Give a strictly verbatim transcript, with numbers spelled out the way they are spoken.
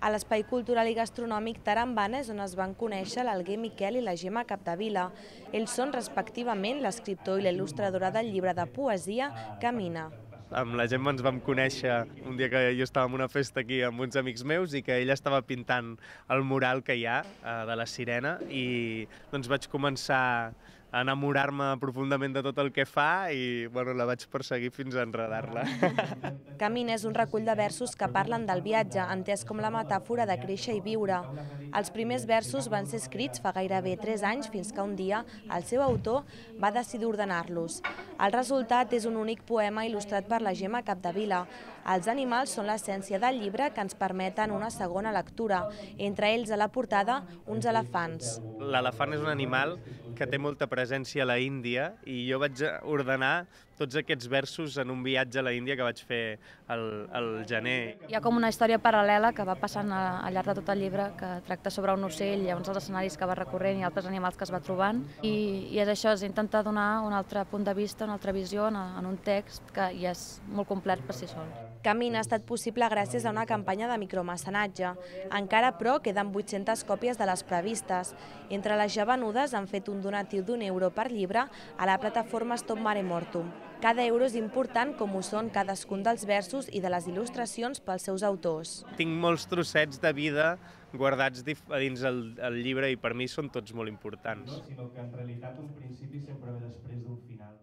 A l'Espai Cultural i Gastronòmic Tarambana és on es van conèixer l'Alguer Miquel i la Gemma Capdevila. Ells són respectivament l'escriptor i la il·lustradora del llibre de poesia Camina. Amb la Gemma ens vam conèixer un dia que jo estava en una festa aquí amb uns amics meus i que ella estava pintant el mural que hi ha de la Sirena i doncs vaig començar a enamorar-me profundament de tot el que fa i bueno, la vaig perseguir fins a enredar-la. Camina és un recull de versos que parlen del viatge, entès com la metàfora de créixer i viure. Els primers versos van ser escrits fa gairebé tres anys fins que un dia el seu autor va decidir ordenar-los. El resultat és un únic poema il·lustrat per la Gemma Capdevila. Els animals són l'essència del llibre que ens permeten una segona lectura, entre ells a la portada uns elefants. L'elefant és un animal que té molta presència a la Índia i jo vaig ordenar tots aquests versos en un viatge a la Índia que vaig fer al, al gener. Hi ha com una història paral·lela que va passant al llarg de tot el llibre que tracta sobre un ocell, llavors els escenaris que va recorrent i altres animals que es va trobant i, i és això, és intentar donar un altre punt de vista, una altra visió en, en un text que ja és molt complet per si sol. Camina ha estat possible gràcies a una campanya de micromecenatge. Encara, però, queden vuit-centes còpies de les previstes. Entre les ja venudes han fet un donatiu d'un euro per llibre a la plataforma Stop Mare Mortum. Cada euro és important com ho són cadascun dels versos i de les il·lustracions pels seus autors. Tinc molts trossets de vida guardats a dins el, el llibre i per mi són tots molt importants. No, sinó que en realitat un principi sempre ve després d'un final.